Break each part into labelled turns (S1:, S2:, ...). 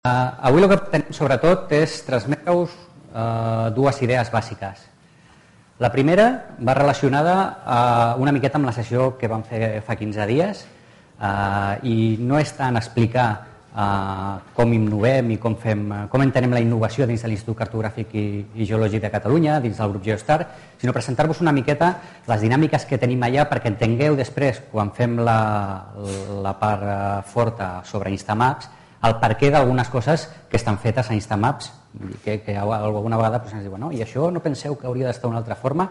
S1: Avui el que tenim sobretot és transmetre-us dues idees bàsiques. La primera va relacionada una miqueta amb la sessió que vam fer fa 15 dies i no és tant explicar com innovem i com entenem la innovació dins de l'Institut Cartogràfic i Geològic de Catalunya, dins del grup Geostar, sinó presentar-vos una miqueta les dinàmiques que tenim allà perquè entengueu després, quan fem la part forta sobre Instamaps, el perquè d'algunes coses que estan fetes a Instamaps, que alguna vegada ens diuen i això no penseu que hauria d'estar d'una altra forma?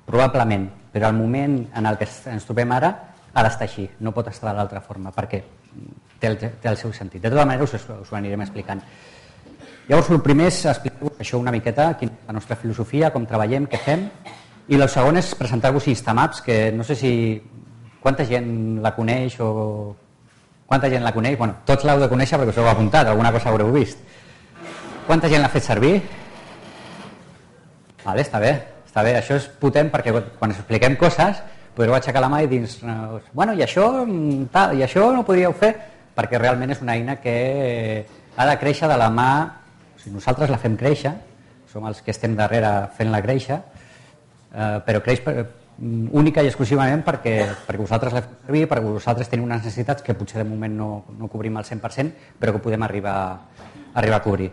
S1: Probablement, però al moment en el que ens trobem ara ha d'estar així, no pot estar de l'altra forma, perquè té el seu sentit. De tota manera us ho anirem explicant. Llavors, el primer és explicar-vos això una miqueta, quina és la nostra filosofia, com treballem, què fem, i el segon és presentar-vos Instamaps, que no sé si quanta gent la coneix o... Quanta gent la coneix? Bueno, tots l'heu de conèixer perquè us heu apuntat, alguna cosa haureu vist. Quanta gent l'ha fet servir? Vale, està bé. Això és potent perquè quan us expliquem coses podreu aixecar la mà i dir bueno, i això no podríeu fer, perquè realment és una eina que ha de créixer de la mà, o sigui, nosaltres la fem créixer, som els que estem darrere fent-la créixer, però creix única i exclusivament perquè vosaltres la feu servir, perquè vosaltres teniu unes necessitats que potser de moment no cobrim al 100%, però que podem arribar a cobrir.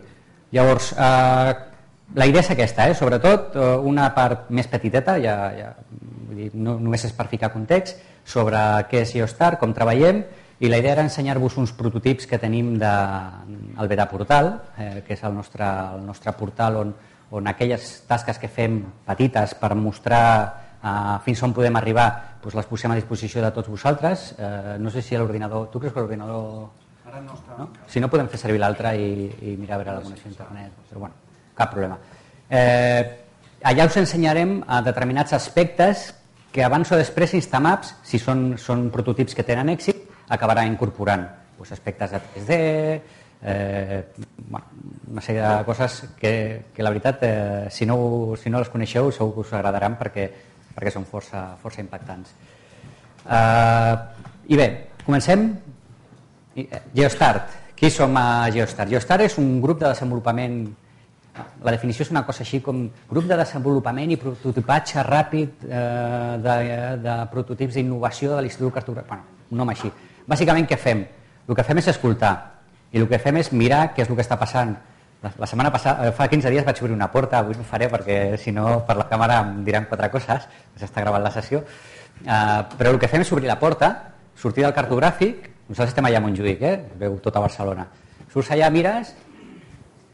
S1: Llavors, la idea és aquesta, sobretot una part més petiteta, no només és per ficar context, sobre què és Geostar, com treballem, i la idea era ensenyar-vos uns prototips que tenim del Beta Portal, que és el nostre portal on aquelles tasques que fem petites per mostrar fins on podem arribar, les posem a disposició de tots vosaltres. No sé si l'ordinador... Tu creus que l'ordinador...
S2: Ara no està.
S1: Si no, podem fer servir l'altre i mirar a veure la connexió a internet. Però bueno, cap problema. Allà us ensenyarem determinats aspectes que abans o després Instamaps, si són prototips que tenen èxit, acabarà incorporant aspectes de 3D, una sèrie de coses que la veritat, si no les coneixeu, segur que us agradaran perquè són força impactants. I bé, comencem. Geostart. Qui som a Geostar? Geostar és un grup de desenvolupament, la definició és una cosa així com grup de desenvolupament i prototipatge ràpid de prototips d'innovació de l'Institut Cartogràfic. Bueno, un nom així. Bàsicament, què fem? El que fem és escoltar i el que fem és mirar què és el que està passant. La setmana passada, fa 15 dies vaig obrir una porta, avui no ho faré perquè si no per la càmera em diran 4 coses, s'està gravant la sessió, però el que fem és obrir la porta, sortir del cartogràfic, nosaltres estem allà a Montjuïc, veu tota Barcelona, surts allà, mires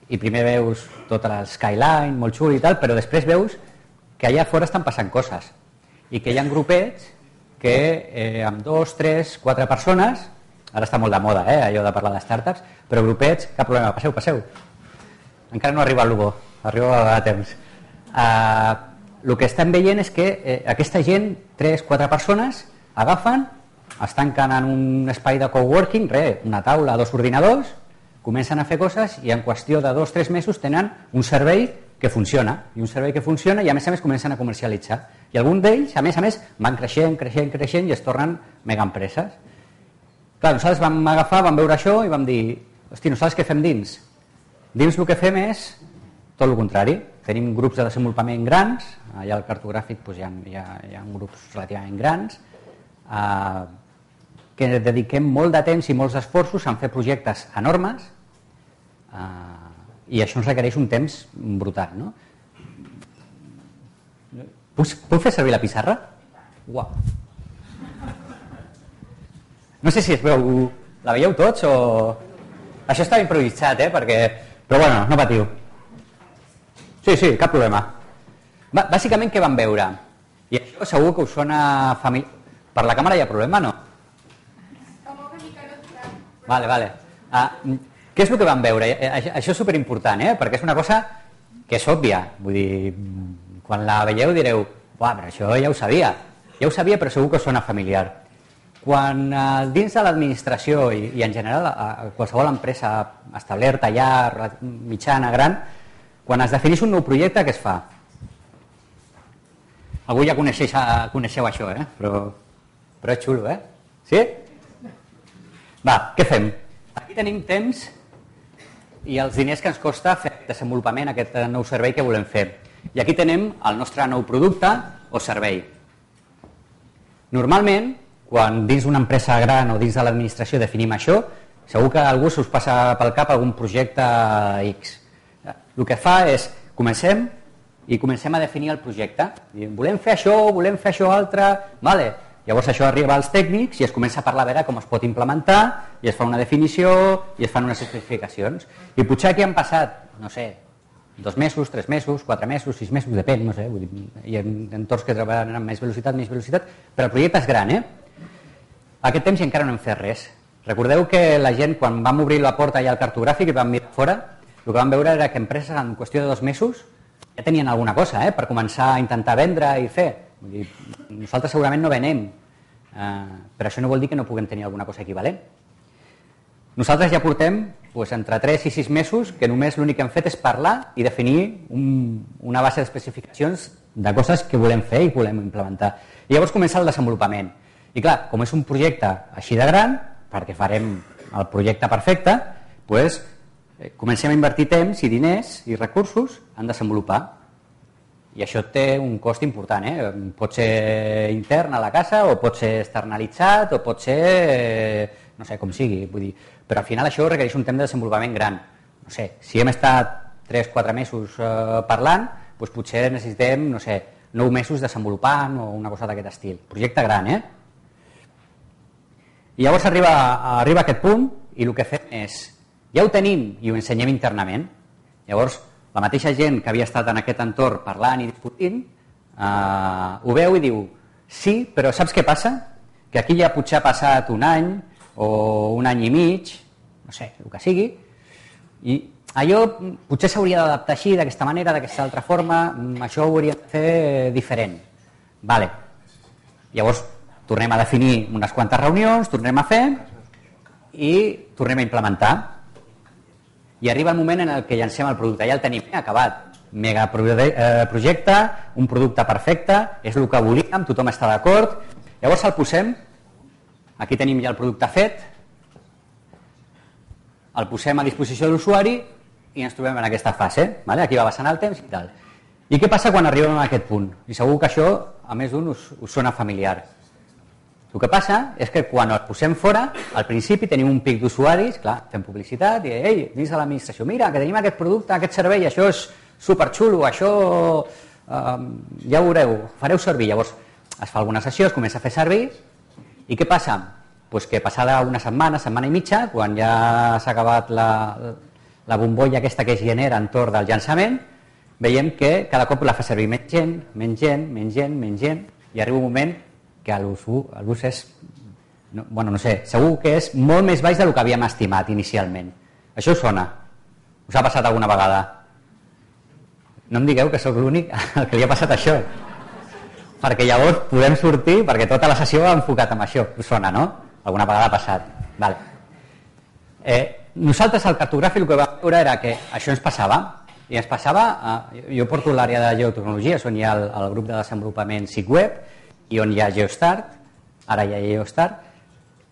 S1: i primer veus tota la skyline, molt xul i tal, però després veus que allà fora estan passant coses i que hi ha grupets que amb 2, 3, 4 persones, ara està molt de moda allò de parlar de startups, però grupets, cap problema, passeu. Encara no arriba el Lugo, arriba a temps. El que estem veient és que aquesta gent, 3-4 persones, agafen, es tanquen en un espai de coworking, una taula, 2 ordinadors, comencen a fer coses i en qüestió de 2-3 mesos tenen un servei que funciona, i a més comencen a comercialitzar. I alguns d'ells, a més, van creixent i es tornen megaempreses. Clar, nosaltres vam agafar, vam veure això i vam dir, hosti, nosaltres què fem dins? Dins el que fem és tot el contrari. Tenim grups de desenvolupament grans, allà al cartogràfic hi ha grups relativament grans, que dediquem molt de temps i molts esforços a fer projectes enormes i això ens requereix un temps brutal. No? Puc fer servir la pissarra? Uau! No sé si es veu... La veieu tots o... Això estava improvisat, perquè... Però bueno, no patiu. Sí, cap problema. Bàsicament, què vam veure? I això segur que us sona familiar. Per la càmera hi ha problema, no? Vale. Què és el que vam veure? Això és superimportant, perquè és una cosa que és òbvia. Vull dir, quan la veieu direu, però això ja ho sabia. Ja ho sabia, però segur que us sona familiar. Quan dins de l'administració i en general a qualsevol empresa establerta ja, mitjana, gran, quan es defineix un nou projecte, què es fa? Algú ja coneixeu això, però és xulo, Sí? Va, què fem? Aquí tenim temps i els diners que ens costa fer aquest desenvolupament, aquest nou servei que volem fer. I aquí tenem el nostre nou producte o servei. Normalment, quan dins d'una empresa gran o dins de l'administració definim això, segur que a algú us passa pel cap algun projecte X. El que fa és, comencem a definir el projecte. Volem fer això altre, vale. Llavors això arriba als tècnics i es comença a parlar a veure com es pot implementar i es fa una definició i es fan unes especificacions. I potser aquí han passat, no sé, 2 mesos, 3 mesos, 4 mesos, 6 mesos, depèn, no sé, vull dir, hi ha entorns que treballen amb més velocitat, però el projecte és gran, Aquest temps encara no hem fet res. Recordeu que la gent, quan vam obrir la porta allà al cartogràfic i vam mirar fora, el que vam veure era que empreses en qüestió de 2 mesos ja tenien alguna cosa per començar a intentar vendre i fer. Vull dir, nosaltres segurament no venem, però això no vol dir que no puguem tenir alguna cosa equivalent. Nosaltres ja portem entre 3 i 6 mesos que només l'únic que hem fet és parlar i definir una base d'especificacions de coses que volem fer i volem implementar. I llavors comença el desenvolupament. I clar, com és un projecte així de gran, perquè farem el projecte perfecte, comencem a invertir temps i diners i recursos en desenvolupar. I això té un cost important, Pot ser intern a la casa o pot ser externalitzat o pot ser, no sé, com sigui, vull dir. Però al final això requereix un temps de desenvolupament gran. No sé, si hem estat 3-4 mesos parlant, potser necessitem, no sé, 9 mesos desenvolupant o una cosa d'aquest estil. Projecte gran, I llavors arriba aquest punt i el que fem és, ja ho tenim i ho ensenyem internament. Llavors, la mateixa gent que havia estat en aquest entorn parlant i discutint, ho veu i diu, sí, però saps què passa? Que aquí ja potser ha passat un any o un any i mig, no sé, el que sigui, i allò potser s'hauria d'adaptar així, d'aquesta manera, d'aquesta altra forma, això ho hauria de fer diferent. Vale. Llavors, tornem a definir unes quantes reunions, tornem a fer i tornem a implementar. I arriba el moment en el que llancem el producte. Ja el tenim acabat. Mega projecte, un producte perfecte, és el que volíem, tothom està d'acord. Llavors el posem, aquí tenim ja el producte fet, el posem a disposició de l'usuari i ens trobem en aquesta fase. Aquí va passant el temps i tal. I què passa quan arribem a aquest punt? I segur que això, a més d'un, us sona familiar. El que passa és que quan el posem fora, al principi tenim un pic d'usuaris, clar, fem publicitat, i ei, dins de l'administració, mira, que tenim aquest producte, aquest servei, això és superxulo, això ja ho veureu, fareu servir. Llavors es fa alguna sessió, es comença a fer servir, i què passa? Pues que passada una setmana, setmana i mitja, quan ja s'ha acabat la bombolla aquesta que es genera entorn del llançament, veiem que cada cop la fa servir menys gent, i arriba un moment que l'ús és, no sé, segur que és molt més baix del que havíem estimat inicialment. Això us sona? Us ha passat alguna vegada? No em digueu que sóc l'únic al que li ha passat això. Perquè llavors podem sortir, perquè tota la sessió va enfocat en això. Us sona, no? Alguna vegada ha passat. Vale. Nosaltres al cartogràfic el que vam veure era que això ens passava. I ens passava, jo porto l'àrea de geotecnologies, on hi ha el grup de desenvolupament SIG-Web, i on hi ha GeoStart, ara hi ha GeoStart,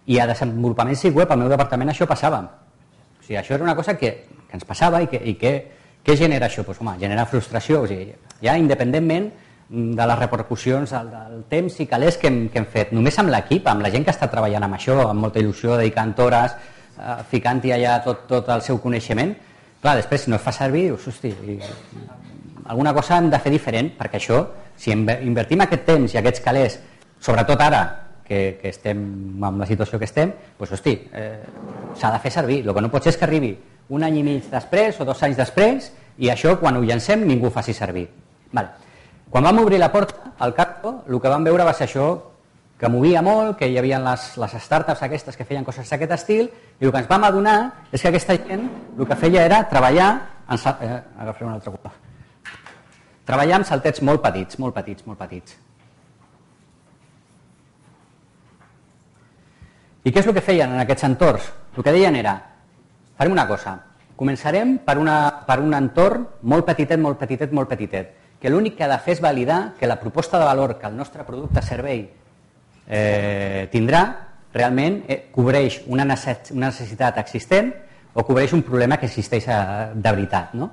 S1: i a desenvolupament SIG-Web, al meu departament, això passava. O sigui, això era una cosa que ens passava i què genera això? Pues, home, genera frustració. O sigui, ja independentment de les repercussions del temps i calés que hem fet, només amb l'equip, amb la gent que està treballant amb això, amb molta il·lusió, dedicant hores, ficant-hi allà tot el seu coneixement, clar, després si no es fa servir, dius, hosti, alguna cosa hem de fer diferent, perquè això, si invertim aquest temps i aquests calés, sobretot ara que estem en la situació que estem, doncs, hosti, s'ha de fer servir. El que no pot ser és que arribi un any i mig després o 2 anys després i això, quan ho llancem, ningú ho faci servir. Vale. Quan vam obrir la porta al Carto, el que vam veure va ser això, que movia molt, que hi havia les startups aquestes que feien coses d'aquest estil, i el que ens vam adonar és que aquesta gent el que feia era treballar agafem un altre cop. Treballar amb saltets molt petits. I què és el que feien en aquests entorns? El que deien era, farem una cosa, començarem per un entorn molt petitet, que l'únic que ha de fer és validar que la proposta de valor que el nostre producte servei tindrà realment cobreix una necessitat existent o cobreix un problema que existeix de veritat, no?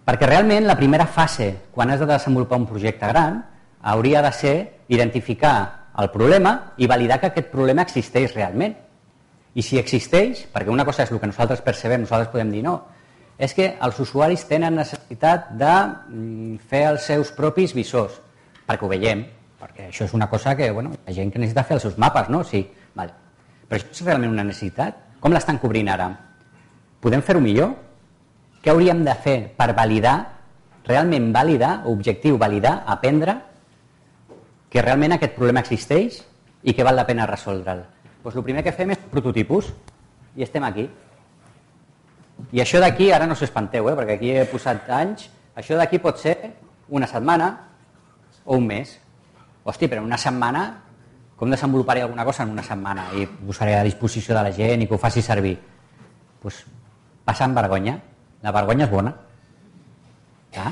S1: Perquè realment la primera fase, quan has de desenvolupar un projecte gran, hauria de ser identificar el problema i validar que aquest problema existeix realment. I si existeix, perquè una cosa és el que nosaltres percebem, nosaltres podem dir no, és que els usuaris tenen necessitat de fer els seus propis visors, perquè ho veiem, perquè això és una cosa que, bueno, hi ha gent que necessita fer els seus mapes, no? Sí, vale. Però això és realment una necessitat? Com l'estan cobrint ara? Podem fer-ho millor? Què hauríem de fer per validar, realment validar, objectiu, validar, aprendre que realment aquest problema existeix i que val la pena resoldre'l? Doncs el primer que fem és prototipus i estem aquí. I això d'aquí, ara no s'espanteu, perquè aquí he posat anys, això d'aquí pot ser una setmana o un mes. Hosti, però en una setmana, com desenvoluparé alguna cosa en una setmana i posaré a disposició de la gent i que ho faci servir? Doncs passant vergonya. La vergonya és bona. A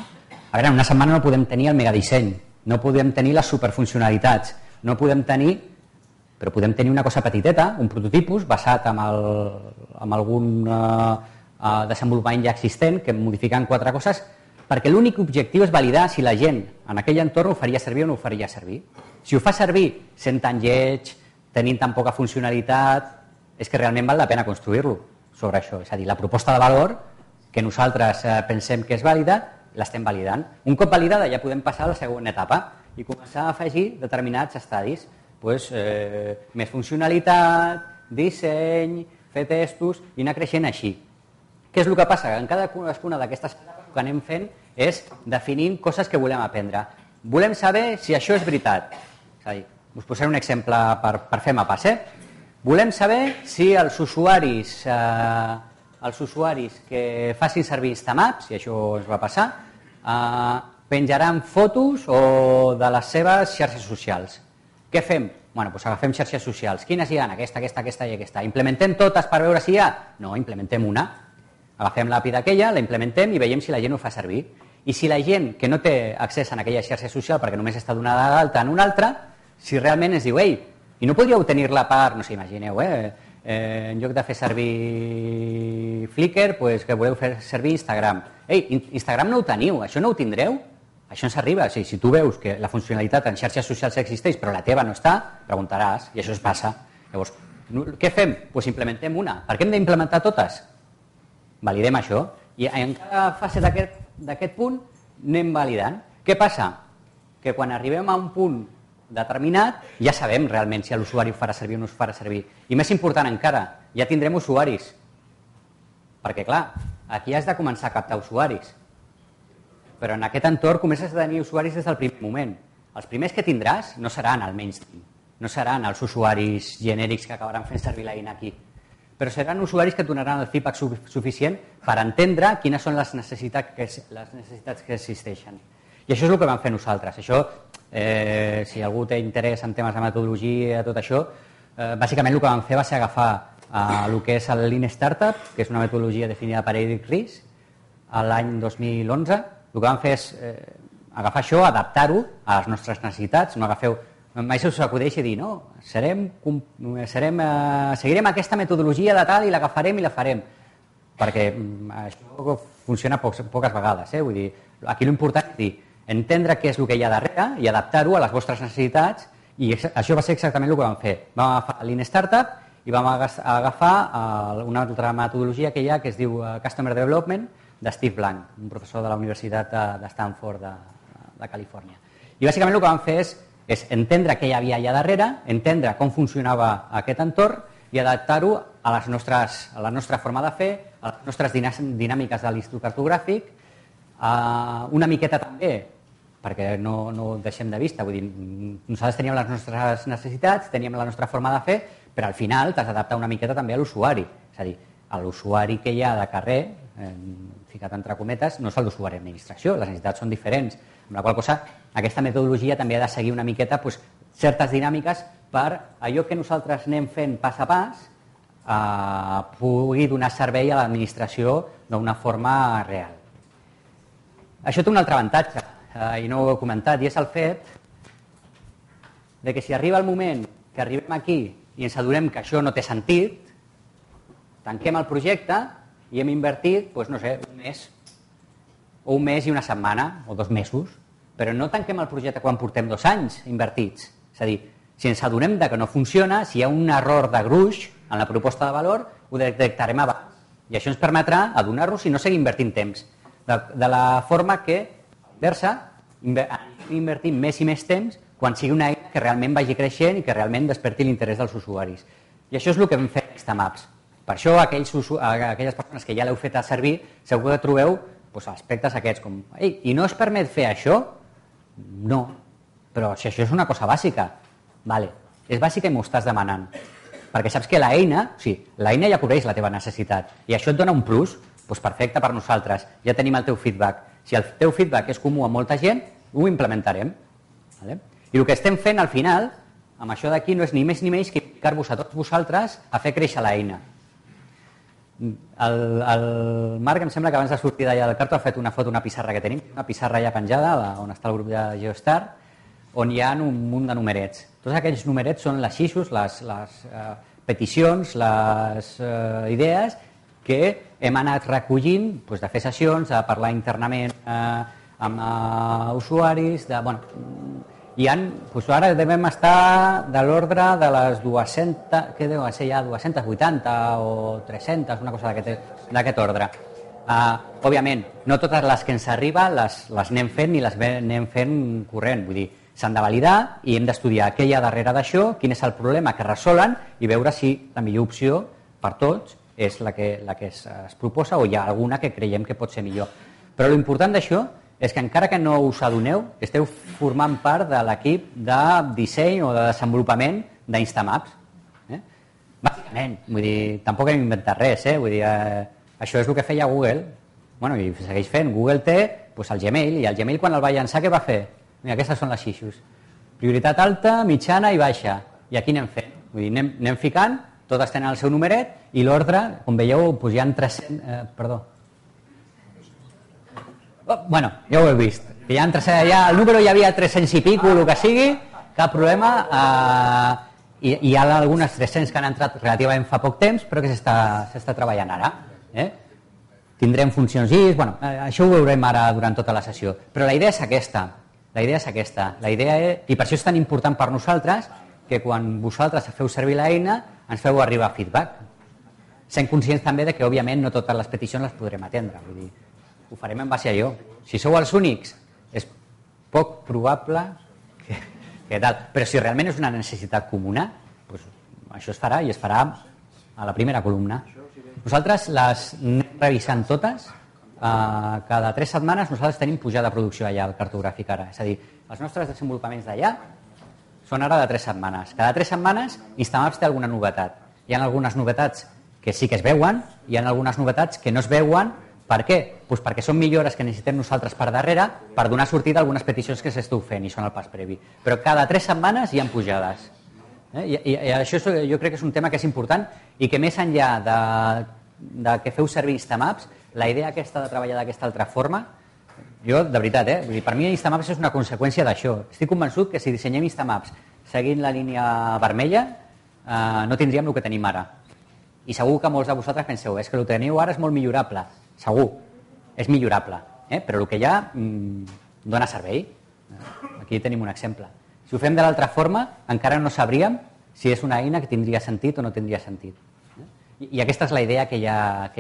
S1: veure, en una setmana no podem tenir el megadisseny, no podem tenir les superfuncionalitats, no podem tenir, però podem tenir una cosa petiteta, un prototipus basat en algun desenvolupament ja existent, que modificant 4 coses, perquè l'únic objectiu és validar si la gent en aquell entorn ho faria servir o no ho faria servir. Si ho fa servir sent tan lleig, tenint tan poca funcionalitat, és que realment val la pena construir-lo sobre això. És a dir, la proposta de valor que nosaltres pensem que és vàlida, l'estem validant. Un cop validada ja podem passar a la següent etapa i començar a afegir determinats estadis. Més funcionalitat, disseny, fer testos i anar creixent així. Què és el que passa? En cadascuna d'aquestes etapes el que anem fent és definint coses que volem aprendre. Volem saber si això és veritat. És a dir, us posaré un exemple per fer mapes. Volem saber si els usuaris que facin servir Instamaps, i això es va passar, penjaran fotos o de les seves xarxes socials. Què fem? Doncs agafem xarxes socials. Quines hi ha? Aquesta i aquesta. Implementem totes per veure si hi ha? No, implementem una. Agafem l'API d'aquella, la implementem i veiem si la gent ho fa servir. I si la gent que no té accés a aquella xarxa social perquè només està donada d'alta en una altra, si realment ens diu, ei, i no podríeu tenir-la per, no sé, imagineu, en lloc de fer servir Flickr, que voleu fer servir Instagram. Ei, Instagram no ho teniu, això no ho tindreu? Això ens arriba. Si tu veus que la funcionalitat en xarxes socials existeix però la teva no està, preguntaràs, i això es passa. Llavors, què fem? Doncs implementem una. Per què hem d'implementar totes? Validem això. I en cada fase d'aquest punt anem validant. Què passa? Que quan arribem a un punt determinat ja sabem realment si l'usuari ho farà servir o no ho farà servir. I més important encara, ja tindrem usuaris. Perquè clar, aquí has de començar a captar usuaris. Però en aquest entorn comences a tenir usuaris des del primer moment. Els primers que tindràs no seran el mainstream, no seran els usuaris genèrics que acabaran fent servir l'eina aquí, però seran usuaris que et donaran el feedback suficient per entendre quines són les necessitats que existeixen. I això és el que vam fer nosaltres. Això, si algú té interès en temes de metodologia i tot això, bàsicament el que vam fer va ser agafar el que és el Lean Startup, que és una metodologia definida per Eric Ries, l'any 2011. El que vam fer és agafar això, adaptar-ho a les nostres necessitats. No agafeu, mai se us acudeixi dir, no, seguirem aquesta metodologia de tal i l'agafarem i la farem. Perquè això funciona poques vegades. Vull dir, aquí l'important és dir, entendre què és el que hi ha darrere i adaptar-ho a les vostres necessitats, i això va ser exactament el que vam fer. Vam agafar Lean Startup i vam agafar una altra metodologia que hi ha que es diu Customer Development, de Steve Blank, un professor de la Universitat de Stanford de Califòrnia. I bàsicament el que vam fer és entendre què hi havia allà darrere, entendre com funcionava aquest entorn i adaptar-ho a la nostra forma de fer, a les nostres dinàmiques de l'Institut Cartogràfic, una miqueta també, perquè no ho deixem de vista, vull dir, nosaltres teníem les nostres necessitats, teníem la nostra forma de fer, però al final t'has d'adaptar una miqueta també a l'usuari. És a dir, l'usuari que hi ha de carrer, ficat entre cometes, no és l'usuari d'administració, les necessitats són diferents, amb la qual cosa aquesta metodologia també ha de seguir una miqueta certes dinàmiques per allò que nosaltres anem fent pas a pas pugui donar servei a l'administració d'una forma real. Això té un altre avantatge, i no ho he comentat, i és el fet que si arriba el moment que arribem aquí i ens adonem que això no té sentit, tanquem el projecte i hem invertit, doncs, no sé, un mes i una setmana, o 2 mesos, però no tanquem el projecte quan portem 2 anys invertits. És a dir, si ens adonem que no funciona, si hi ha un error de gruix en la proposta de valor, ho detectarem abans. I això ens permetrà adonar-nos i no seguir invertint temps. De la forma que, versa, invertir més i més temps quan sigui una eina que realment vagi creixent i que realment desperti l'interès dels usuaris. I això és el que hem fet a Instamaps. Per això aquelles persones que ja l'heu fet a servir segur que trobeu aspectes aquests com i no es permet fer això? No, però si això és una cosa bàsica, vale, és bàsica i m'ho estàs demanant, perquè saps que l'eina ja cobreix la teva necessitat i això et dona un plus, doncs perfecte per nosaltres, ja tenim el teu feedback. Si el teu feedback és comú a molta gent, ho implementarem. Vale? I el que estem fent al final, amb això d'aquí, no és ni més ni menys que implicar-vos a tots vosaltres a fer créixer l'eina. El Marc, em sembla que abans de sortir d'allà del carto ha fet una foto, una pissarra que tenim, una pissarra ja penjada, on està el grup de Geostar, on hi ha un munt de numerets. Tots aquells numerets són les issues, les peticions, les idees que hem anat recollint de fer sessions, de parlar internament amb usuaris, ara devem estar de l'ordre de les 200, què deu ser ja, 280 o 300, una cosa d'aquest ordre. Òbviament, no totes les que ens arriben les anem fent ni les anem fent corrent, vull dir, s'han de validar i hem d'estudiar què hi ha darrere d'això, quin és el problema que resolen i veure si la millor opció per tots és la que es proposa o hi ha alguna que creiem que pot ser millor. Però l'important d'això és que encara que no us adoneu, esteu formant part de l'equip de disseny o de desenvolupament d'Instamaps. Bàsicament, vull dir, tampoc hem inventat res, vull dir, això és el que feia Google, i segueix fent. Google té el Gmail, i el Gmail quan el va llançar què va fer? Mira, aquestes són les issues. Prioritat alta, mitjana i baixa. I aquí anem fent. Vull dir, anem ficant, totes tenen el seu numeret i l'ordre, com veieu, hi ha 300... Perdó. Ja ho heu vist. El número hi havia 300 i pico, el que sigui, cap problema. I hi ha algunes 300 que han entrat relativament fa poc temps, però que s'està treballant ara. Tindrem funcions i... això ho veurem ara durant tota la sessió. Però la idea és aquesta. I per això és tan important per nosaltres que quan vosaltres feu servir l'eina ens feu arribar feedback. Sent conscients també que, òbviament, no totes les peticions les podrem atendre. Vull dir, ho farem en base a allò. Si sou els únics, és poc probable que tal. Però si realment és una necessitat comuna, això es farà i es farà a la primera columna. Nosaltres les anem revisant totes. Cada 3 setmanes nosaltres tenim pujada de producció allà al cartogràfic ara. És a dir, els nostres desenvolupaments d'allà són ara de 3 setmanes. Cada 3 setmanes Instamaps té alguna novetat. Hi ha algunes novetats que sí que es veuen, hi ha algunes novetats que no es veuen. Per què? Perquè són millores que necessitem nosaltres per darrere per donar sortida a algunes peticions que s'esteu fent i són el pas previ. Però cada 3 setmanes hi ha pujades. I això jo crec que és un tema que és important i que més enllà de que feu servir Instamaps, la idea aquesta de treballar d'aquesta altra forma, jo, de veritat, per mi Instamaps és una conseqüència d'això. Estic convençut que si dissenyem Instamaps seguint la línia vermella no tindríem el que tenim ara. I segur que molts de vosaltres penseu és que el que teniu ara és molt millorable. Segur, és millorable, però el que hi ha dona servei. Aquí tenim un exemple. Si ho fem de l'altra forma, encara no sabríem si és una eina que tindria sentit o no tindria sentit. I aquesta és la idea que hi ha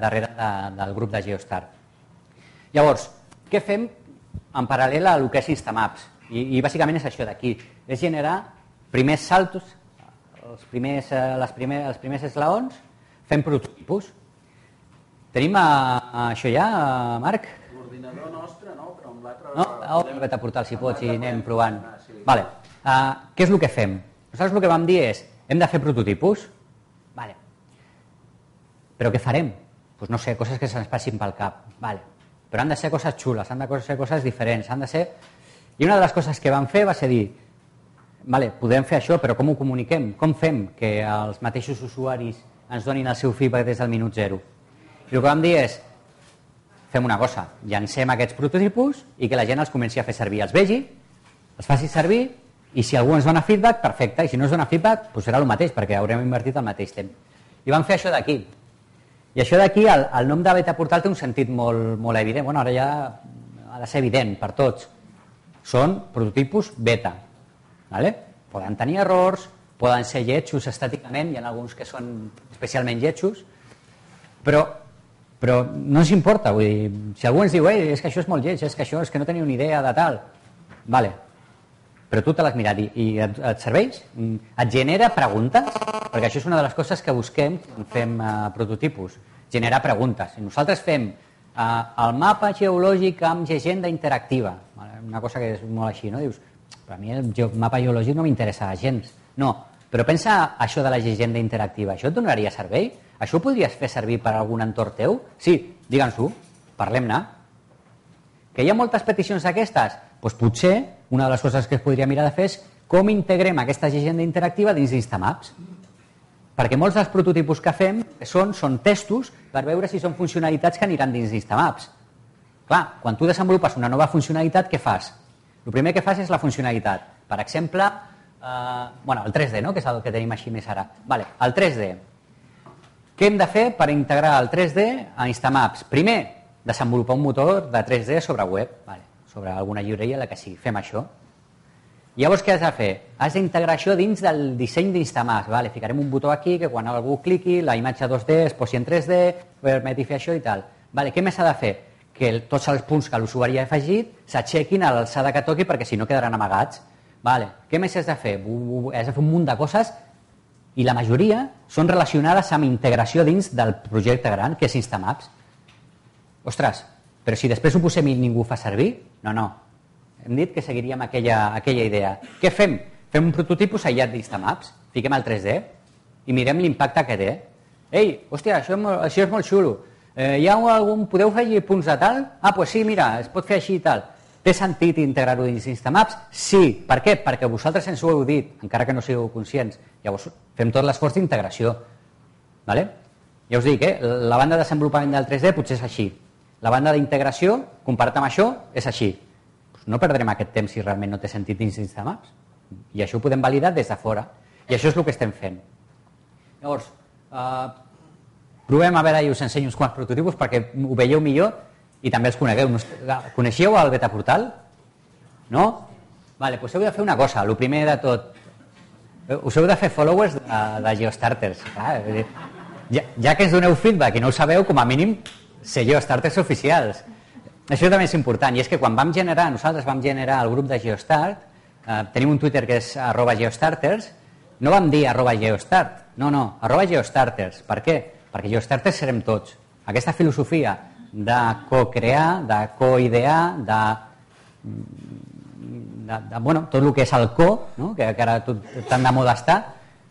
S1: darrere del grup de Geostar. Llavors, què fem en paral·lel a el que és Instamaps? I bàsicament és això d'aquí. És generar primers saltos, els primers esglaons, fem prototipus. Tenim això ja, Marc?
S2: L'ordinador nostre, no? Però amb l'altre...
S1: No? Vete a portar si pots i anem provant. Vale. Què és el que fem? Nosaltres el que vam dir és, hem de fer prototipus? Vale. Però què farem? Doncs no sé, coses que se'ns passin pel cap. Vale. Però han de ser coses xules, han de ser coses diferents, han de ser... I una de les coses que vam fer va ser dir, vale, podem fer això, però com ho comuniquem? Com fem que els mateixos usuaris ens donin el seu feedback des del minut zero? I el que vam dir és, fem una cosa, llancem aquests prototipus i que la gent els comenci a fer servir, els vegi, els faci servir i si algú ens dona feedback, perfecte, i si no ens dona feedback, doncs serà el mateix, perquè haurem invertit el mateix temps. I vam fer això d'aquí. I això d'aquí, el nom de beta portal té un sentit molt evident. Bueno, ara ja ha de ser evident per tots. Són prototipus beta. Vale? Poden tenir errors, poden ser lletjos estàticament, hi ha alguns que són especialment lletjos, però no ens importa. Vull dir, si algú ens diu és que això és molt lleig, és que no teniu ni idea de tal, vale, però tu te l'has mirat i et serveix? Et genera preguntes? Perquè això és una de les coses que busquem quan fem prototipus, generar preguntes. I nosaltres fem el mapa geològic amb llegenda interactiva, una cosa que és molt així, no? Dius, per a mi el mapa geològic no m'interessa gens. No, però pensa això de la llegenda interactiva, això et donaria servei? Això ho podries fer servir per a algun entorn teu? Sí, digue'ns-ho, parlem-ne. Que hi ha moltes peticions d'aquestes? Doncs potser una de les coses que es podria mirar de fer és com integrem aquesta llegenda interactiva dins d'Instamaps. Perquè molts dels prototipus que fem són testos per veure si són funcionalitats que aniran dins d'Instamaps. Clar, quan tu desenvolupes una nova funcionalitat, què fas? El primer que fas és la funcionalitat. Per exemple, el 3D, no? Que és el que tenim així més ara. Vale, el 3D. Què hem de fer per integrar el 3D a Instamaps? Primer, desenvolupar un motor de 3D sobre web, vale, sobre alguna llibreria, la que sigui. Fem això. Llavors, què has de fer? Has d'integrar això dins del disseny d'Instamaps. Vale, ficarem un botó aquí que quan algú cliqui, la imatge 2D es posi en 3D, permeti fer això i tal. Vale, què més s'ha de fer? Que tots els punts que l'usuari ha afegit s'aixequin a l'alçada que toqui perquè si no quedaran amagats. Vale. Què més has de fer? Has de fer un munt de coses i la majoria són relacionades amb integració dins del projecte gran que és Instamaps. Ostres, però si després ho posem i ningú ho fa servir? No. Hem dit que seguiríem aquella idea. Què fem? Fem un prototipus aïllat d'Instamaps, fiquem el 3D i mirem l'impacte que té. Ei, hòstia, això és molt xulo. Podeu fer punts de tal? Doncs sí, mira, es pot fer així i tal. Té sentit integrar-ho dins Instamaps? Sí. Per què? Perquè vosaltres ens ho heu dit, encara que no sigueu conscients. Llavors fem tot l'esforç d'integració. Vale? Ja us dic, la banda de desenvolupament del 3D potser és així. La banda d'integració, comparat amb això, és així. No perdrem aquest temps si realment no té sentit dins Instamaps. I això ho podem validar des de fora. I això és el que estem fent. Llavors, provem a veure i us ensenyo uns quants prototipus perquè ho veieu millor i també els conegueu. Coneixeu el beta portal? No? Vale, doncs heu de fer una cosa, el primer de tot. Us heu de fer followers de GeoStarters. Ja que ens doneu feedback i no ho sabeu, com a mínim ser GeoStarters oficials. Això també és important, i és que quan nosaltres vam generar el grup de GeoStart, tenim un Twitter que és @GeoStarters, no vam dir @GeoStart, no, @GeoStarters. Per què? Perquè GeoStarters serem tots. Aquesta filosofia de co-crear, de co-idear, tot el que és el co, no? que ara tan de moda està,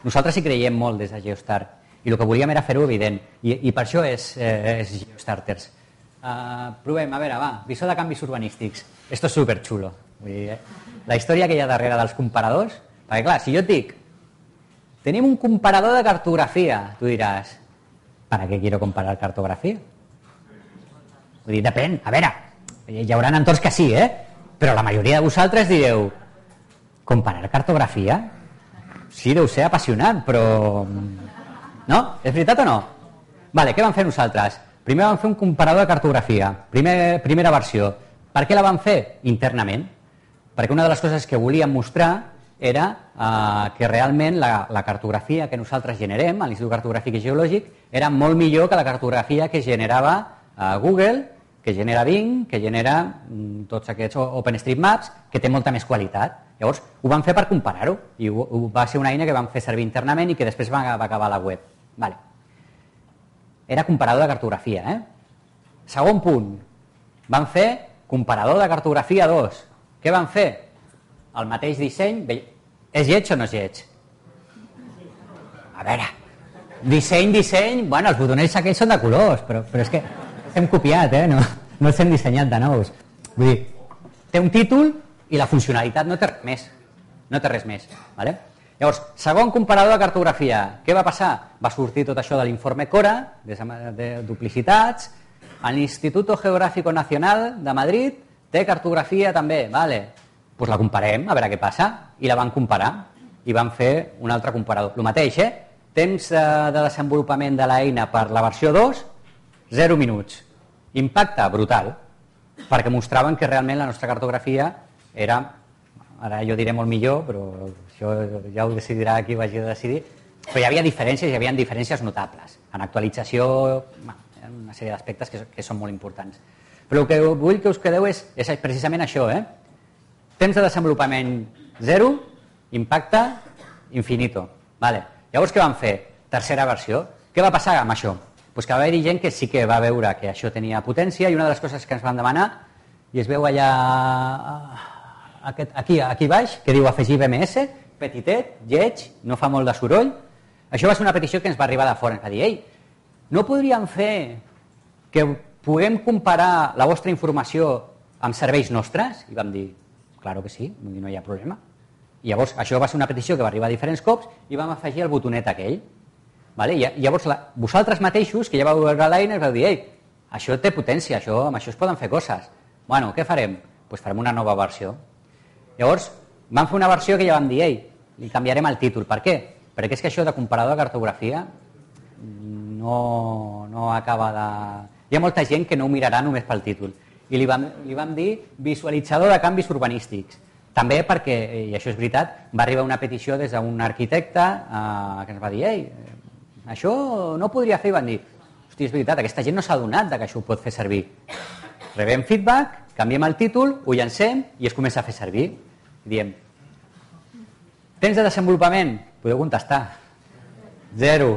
S1: nosaltres hi creiem molt des de GeoStart. I el que volíem era fer-ho evident. I per això és GeoStarters. Provem, a veure, visor de canvis urbanístics. Esto és superxulo. La història que hi ha darrere dels comparadors, perquè clar, si jo et dic tenim un comparador de cartografia, tu diràs, ¿para qué quiero comparar cartografía? Vull dir, depèn, a veure, hi haurà entorns que sí, però la majoria de vosaltres direu, comparar cartografia? Sí, deu ser apassionant, però... No? És veritat o no? Vale, què vam fer nosaltres? Primer vam fer un comparador de cartografia, primera versió. Per què la vam fer? Internament. Perquè una de les coses que volíem mostrar era que realment la cartografia que nosaltres generem a l'Institut Cartogràfic i Geològic era molt millor que la cartografia que generava Google, que genera Bing, que genera tots aquests OpenStreetMaps, que té molta més qualitat. Llavors, ho vam fer per comparar-ho i va ser una eina que vam fer servir internament i que després va acabar a la web. Vale. Era comparador de cartografia. Segon punt, vam fer comparador de cartografia 2. Què vam fer? El mateix disseny. És lleig o no és lleig? A veure, disseny, bueno, els botonets aquells són de colors, però és que els hem copiat, no els hem dissenyat de nous. Vull dir, té un títol i la funcionalitat no té res més. No té res més, vale? Llavors, segon comparador de cartografia. Què va passar? Va sortir tot això de l'informe Cora, de duplicitats. L'Instituto Geográfico Nacional de Madrid té cartografia també, vale? Doncs la comparem, a veure què passa. I la van comparar. I van fer un altre comparador. El mateix, temps de desenvolupament de l'eina per la versió 2 0 minuts. Impacte brutal, perquè mostraven que realment la nostra cartografia era, ara jo diré molt millor, però això ja ho decidirà qui ho hagi de decidir, però hi havia diferències notables. En actualització, hi ha una sèrie d'aspectes que són molt importants. Però el que vull que us quedeu és precisament això, temps de desenvolupament 0, impacte infinito. Llavors què vam fer? Tercera versió. Què va passar amb això? Pues que va haver-hi gent que sí que va veure que això tenia potència i una de les coses que ens van demanar, i es veu allà aquí baix, que diu afegir BMS, petitet, lleig, no fa molt de soroll. Això va ser una petició que ens va arribar de fora. Ens va dir, ei, no podríem fer que puguem comparar la vostra informació amb serveis nostres? I vam dir, claro que sí, no hi ha problema. I llavors això va ser una petició que va arribar a diferents cops i vam afegir el botonet aquell. I llavors vosaltres mateixos, que ja vau veure l'eina, vau dir, ei, això té potència, amb això es poden fer coses. Bueno, què farem? Doncs farem una nova versió. Llavors vam fer una versió que ja vam dir, ei, li canviarem el títol. Per què? Perquè és que això de comparador de cartografia no acaba de... Hi ha molta gent que no ho mirarà només pel títol. I li vam dir visualitzador de canvis urbanístics. També perquè, i això és veritat, va arribar una petició des d'un arquitecte que ens va dir, ei, això no podria fer, i van dir, hosti, és veritat, aquesta gent no s'ha adonat que això ho pot fer servir. Rebem feedback, canviem el títol, ho llancem i es comença a fer servir. Diem, temps de desenvolupament? Podeu contestar. 0.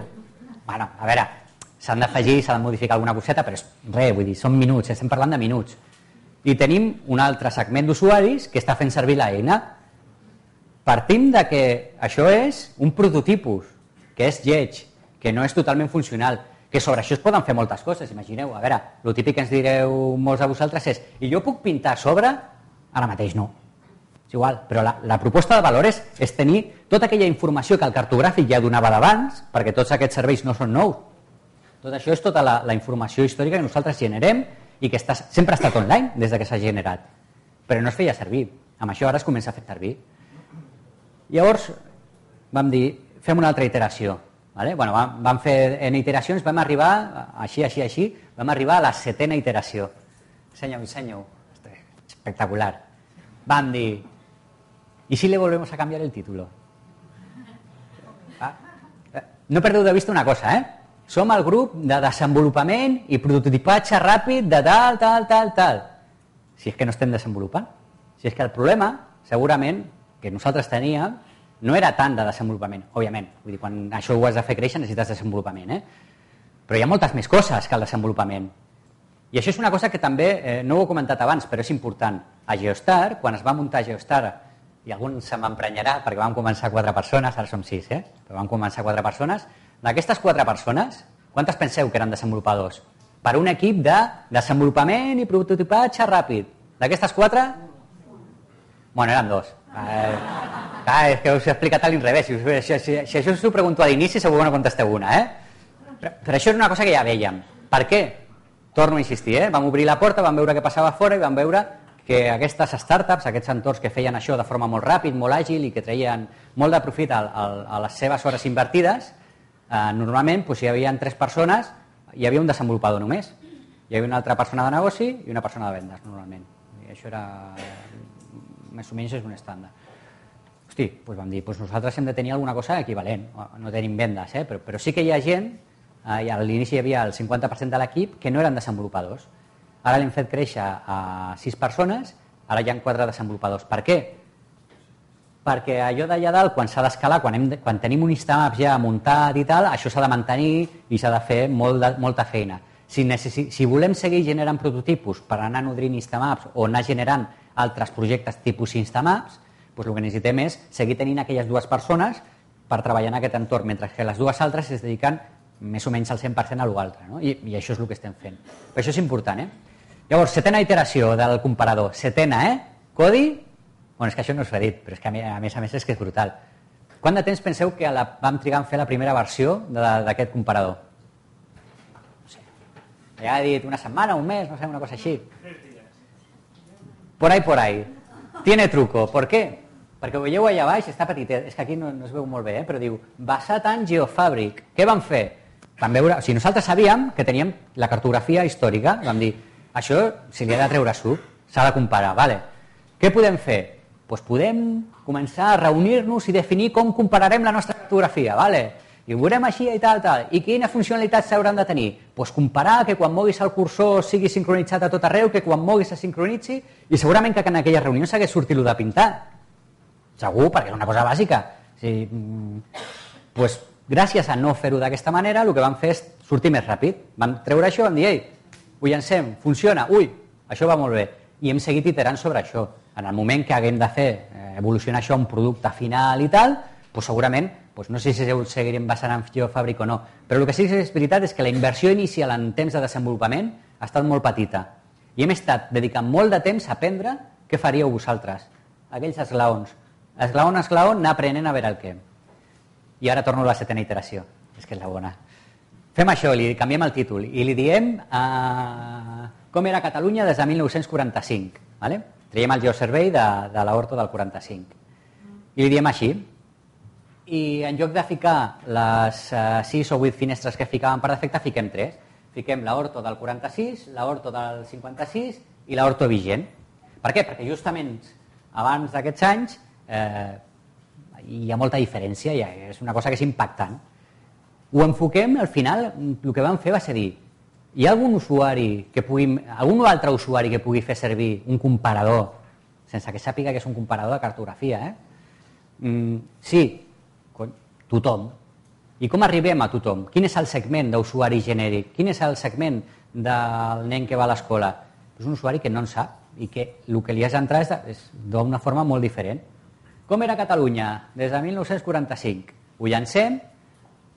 S1: Bueno, a veure, s'han d'afegir, s'ha de modificar alguna coseta, però és res, vull dir, són minuts, estem parlant de minuts. I tenim un altre segment d'usuaris que està fent servir l'eina. Partim de que això és un prototipus, que és lleig, que no és totalment funcional, que sobre això es poden fer moltes coses, imagineu. A veure, el típic que ens direu molts de vosaltres és, i jo puc pintar a sobre? Ara mateix no. És igual, però la proposta de valor és tenir tota aquella informació que el cartogràfic ja donava d'abans, perquè tots aquests serveis no són nous. Tot això és tota la informació històrica que nosaltres generem i que sempre ha estat online des que s'ha generat, però no es feia servir. Amb això ara es comença a fer servir. Llavors vam dir, fem una altra iteració. Bueno, vam fer en iteracions, vam arribar, així, vam arribar a la 7ª iteració. Enseño. Espectacular. Vam dir, ¿y si le volvemos a cambiar el título? No perdeu de vista una cosa, Som el grup de desenvolupament i prototipatge ràpid de tal. Si és que no estem desenvolupant. Si és que el problema, segurament, que nosaltres teníem, no era tant de desenvolupament, òbviament. Vull dir, quan això ho has de fer créixer necessites desenvolupament, Però hi ha moltes més coses que el desenvolupament. I això és una cosa que també, no ho he comentat abans, però és important. A Geostar, quan es va muntar Geostar, i algun se m'emprenyarà perquè vam començar 4 persones, ara som 6, però vam començar 4 persones. D'aquestes 4 persones, quantes penseu que eren desenvolupadors? Per un equip de desenvolupament i prototipatge ràpid. D'aquestes 4? Bueno, eren 2. És que us he explicat a l'inrevés. Si això us ho pregunto a l'inici, segur que no contesteu una, Però això era una cosa que ja vèiem. Per què? Torno a insistir, Vam obrir la porta, vam veure què passava fora i vam veure que aquestes startups, aquests entorns que feien això de forma molt ràpid, molt àgil i que treien molt de profit a les seves hores invertides, normalment hi havia 3 persones, hi havia un desenvolupador només. Hi havia una altra persona de negoci i una persona de vendes, normalment. I això era, més o menys, és un estàndard. Hosti, vam dir, nosaltres hem de tenir alguna cosa equivalent. No tenim vendes, però sí que hi ha gent, i a l'inici hi havia el 50% de l'equip, que no eren desenvolupadors. Ara l'hem fet créixer a 6 persones, ara hi ha 4 desenvolupadors. Per què? Perquè allò d'allà dalt, quan s'ha d'escalar, quan tenim un Instamaps ja muntat i tal, això s'ha de mantenir i s'ha de fer molta feina. Si volem seguir generant prototipus per anar nodrint Instamaps o anar generant altres projectes tipus Instamaps, el que necessitem és seguir tenint aquelles 2 persones per treballar en aquest entorn, mentre que les 2 altres es dediquen més o menys al 100% a l'altre, i això és el que estem fent. Però això és important, Llavors, 7ª iteració del comparador. 7ª, Codi? Bueno, és que això no us ho he dit, però és que a més és que és brutal. Quant de temps penseu que vam trigar en fer la primera versió d'aquest comparador? No sé. Ja he dit una setmana, un mes, no sé, una cosa així.
S3: 3 dies.
S1: Por ahí. Tiene truco. ¿Por qué? Perquè ho veieu allà baix, està petitet, és que aquí no es veu molt bé, però diu, basat en Geofabric. Què van fer? vam veure, o sigui, nosaltres sabíem que teníem la cartografia històrica, vam dir, això se li ha de treure suc, s'ha de comparar, vale. Què podem fer? Doncs podem començar a reunir-nos i definir com compararem la nostra cartografia, vale? I ho veurem així i tal. I quines funcionalitats s'hauran de tenir? Doncs comparar que quan moguis el cursor sigui sincronitzat a tot arreu, que quan moguis se sincronitzi, i segurament que en aquella reunió s'hagués sortit de pintar. Segur, perquè és una cosa bàsica. O sigui, doncs, gràcies a no fer-ho d'aquesta manera, el que vam fer és sortir més ràpid. Vam treure això, vam dir, ei, ho llancem, funciona, ui, això va molt bé. I hem seguit iterant sobre això. En el moment que haguem de fer evolucionar això a un producte final i tal, doncs segurament, no sé si seguirem basant en fàbrica o no, però el que sí que és veritat és que la inversió inicial en temps de desenvolupament ha estat molt petita. I hem estat dedicant molt de temps a aprendre què faríeu vosaltres, aquells esglaons. Esglaon a esglaon, anar aprenent a veure el què. I ara torno a la 7ª iteració, és que és la bona. Fem això, li canviem el títol i li diem com era Catalunya des de 1945. Vale? Traiem el geoservei de l'Horto del 45. I li diem així. I en lloc de ficar les 6 o 8 finestres que ficàvem per defecte, fiquem 3. Fiquem l'Horto del 46, l'Horto del 56 i l'Horto vigent. Per què? Perquè justament abans d'aquests anys hi ha molta diferència, és una cosa que és impactant. Ho enfoquem, al final, el que vam fer va ser dir, hi ha algun altre usuari que pugui fer servir un comparador, sense que sàpiga que és un comparador de cartografia, Sí, tothom. I com arribem a tothom? Quin és el segment d'usuari genèric? Quin és el segment del nen que va a l'escola? És un usuari que no en sap i que el que li has d'entrar és d'una forma molt diferent. Com era Catalunya des de 1945? Ho llancem.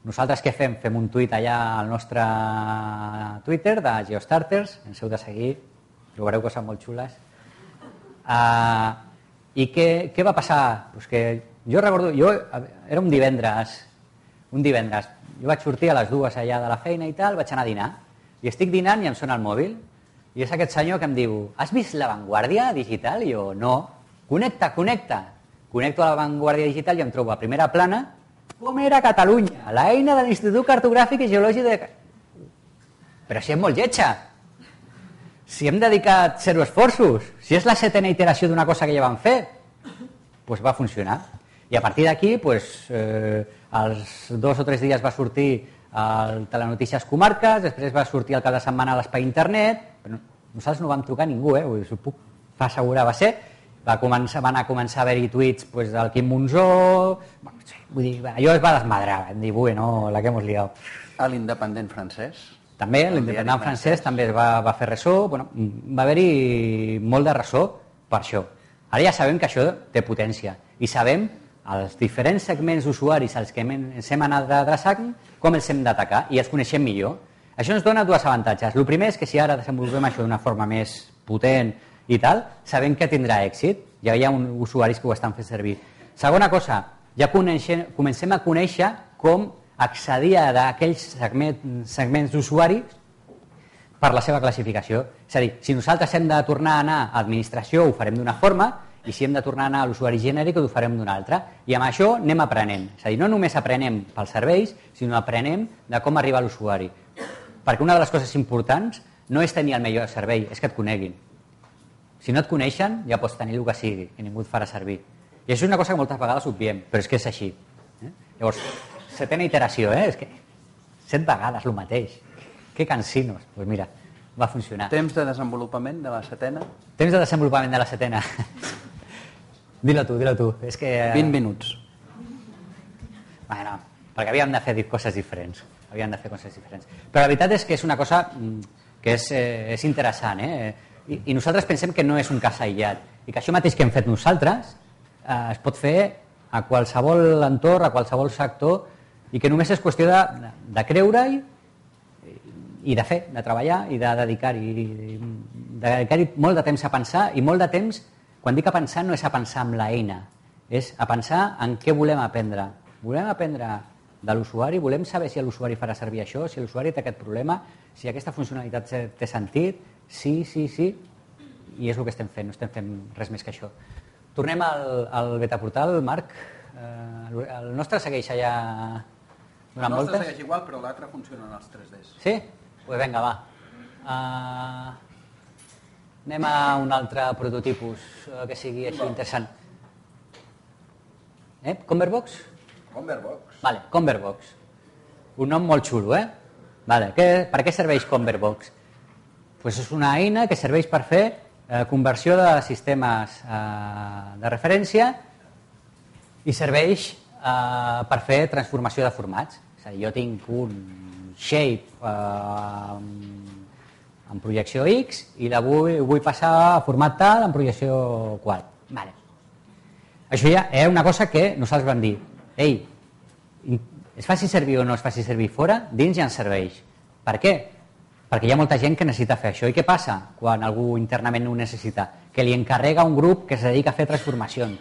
S1: Nosaltres què fem? Fem un tuit allà al nostre Twitter de Geostarters, ens heu de seguir, trobareu coses molt xules. I què va passar? Pues que jo recordo, era un divendres, jo vaig sortir a les 2 allà de la feina i tal, vaig anar a dinar, i estic dinant i em sona el mòbil, i és aquest senyor que em diu, has vist La Vanguardia Digital? I jo, no. Connecta. Connecto a La Vanguardia Digital i em trobo a primera plana com era Catalunya, l'eina de l'Institut Cartogràfic i Geològic de... Però si és molt lletja, si hem dedicat 0 esforços, si és la 7ª iteració d'una cosa que ja vam fer, doncs va funcionar. I a partir d'aquí, als 2 o 3 dies va sortir el Telenotícies Comarques, després va sortir el cap de setmana a l'Espai Internet, però nosaltres no vam trucar a ningú, us ho puc assegurar, va ser... Van començar a haver-hi tuits del Quim Monzó, vull dir, allò es va desmadrar, vam dir, bueno, la que hemos liado.
S2: A l'Independent francès?
S1: També, l'Independent francès també va fer ressò, va haver-hi molt de ressò per això. Ara ja sabem que això té potència i sabem els diferents segments d'usuaris als que ens hem anat adreçant com els hem d'atacar i els coneixem millor. Això ens dona 2 avantatges. El primer és que si ara desenvolupem això d'una forma més potent i tal, sabem que tindrà èxit, ja hi ha usuaris que ho estan fent servir. Segona cosa, ja comencem a conèixer com accedir a aquells segments d'usuaris per la seva classificació. És a dir, si nosaltres hem de tornar a anar a administració ho farem d'una forma i si hem de tornar a anar a l'usuari genèric ho farem d'una altra. I amb això anem aprenent. És a dir, no només aprenem pels serveis, sinó aprenem de com arribar a l'usuari. Perquè una de les coses importants no és tenir el millor servei, és que et coneguin. Si no et coneixen, ja pots tenir el que sigui i ningú et farà servir. I això és una cosa que moltes vegades obviem, però és que és així. Llavors, 7ª iteració, és que 7 vegades el mateix. Que cansinos. Doncs mira, va funcionar.
S2: Temps de desenvolupament de la 7ª?
S1: Temps de desenvolupament de la 7ª. Dilo tu. És que...
S2: 20 minuts.
S1: Bueno, perquè havíem de fer coses diferents. Però la veritat és que és una cosa que és interessant, I nosaltres pensem que no és un cas aïllat i que això mateix que hem fet nosaltres es pot fer a qualsevol entorn, a qualsevol sector i que només és qüestió de creure-hi i de fer, de treballar i de dedicar-hi molt de temps a pensar i molt de temps, quan dic a pensar no és a pensar amb l'eina, és a pensar en què volem aprendre. Volem aprendre de l'usuari, volem saber si l'usuari farà servir això, si l'usuari té aquest problema, si aquesta funcionalitat té sentit, sí, i és el que estem fent, no estem fent res més que això. Tornem al betaportal, Marc. El nostre segueix allà
S2: El nostre segueix igual, però l'altre funciona en els 3Ds.
S1: Sí? Doncs vinga, va. Anem a un altre prototipus que sigui així interessant. Converbox?
S2: Converbox.
S1: Vale, Converbox. Un nom molt xulo, Vale, per què serveix Converbox? Pues és una eina que serveix per fer conversió de sistemes de referència i serveix per fer transformació de formats. És a dir, jo tinc un shape en projecció X i la vull passar a format tal en projecció qual. Vale. Això ja era una cosa que nosaltres vam dir, ei, es faci servir o no es faci servir fora, dins ja ens serveix. Per què? Perquè hi ha molta gent que necessita fer això. I què passa quan algú internament ho necessita? Que li encarrega un grup que es dedica a fer transformacions.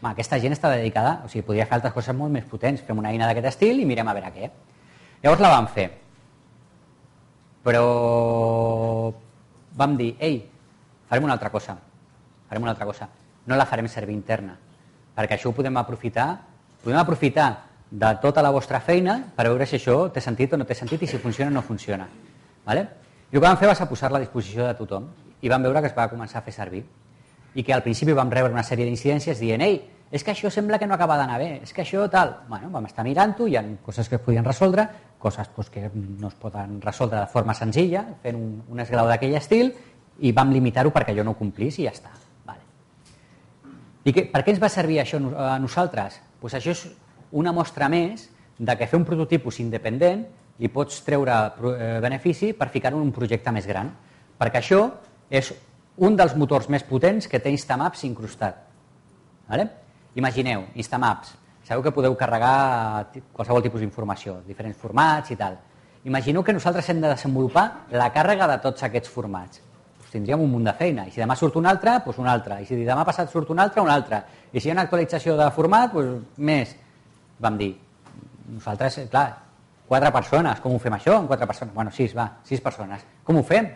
S1: Aquesta gent està dedicada, o sigui, podria fer altres coses molt més potents. Fem una eina d'aquest estil i mirem a veure què. Llavors la vam fer. Però vam dir, ei, farem una altra cosa. No la farem servir interna, perquè això ho podem aprofitar de tota la vostra feina per veure si això té sentit o no té sentit i si funciona o no funciona. Vale? I el que vam fer va ser posar-la a disposició de tothom i vam veure que es va començar a fer servir i que al principi vam rebre una sèrie d'incidències dient, ei, és que això sembla que no acaba d'anar bé, és que això tal. Bueno, vam estar mirant-ho, hi ha coses que es podien resoldre, coses que no es poden resoldre de forma senzilla, fent un esglau d'aquell estil, i vam limitar-ho perquè allò no ho complís i ja està. Vale. I per què ens va servir això a nosaltres? Pues això és una mostra més de que fer un prototipus independent li pots treure benefici per ficar-ho en un projecte més gran, perquè això és un dels motors més potents que té Instamaps incrustat. Vale? Imagineu, Instamaps, sabeu que podeu carregar qualsevol tipus d'informació, diferents formats i tal. Imagineu que nosaltres hem de desenvolupar la càrrega de tots aquests formats. Tindríem un munt de feina, i si demà surt un altre, doncs un altre, i si demà passat surt un altre, i si hi ha una actualització de format, doncs més. Vam dir, nosaltres, clar, 4 persones, com ho fem això amb 4 persones? Bueno, 6 persones. Com ho fem?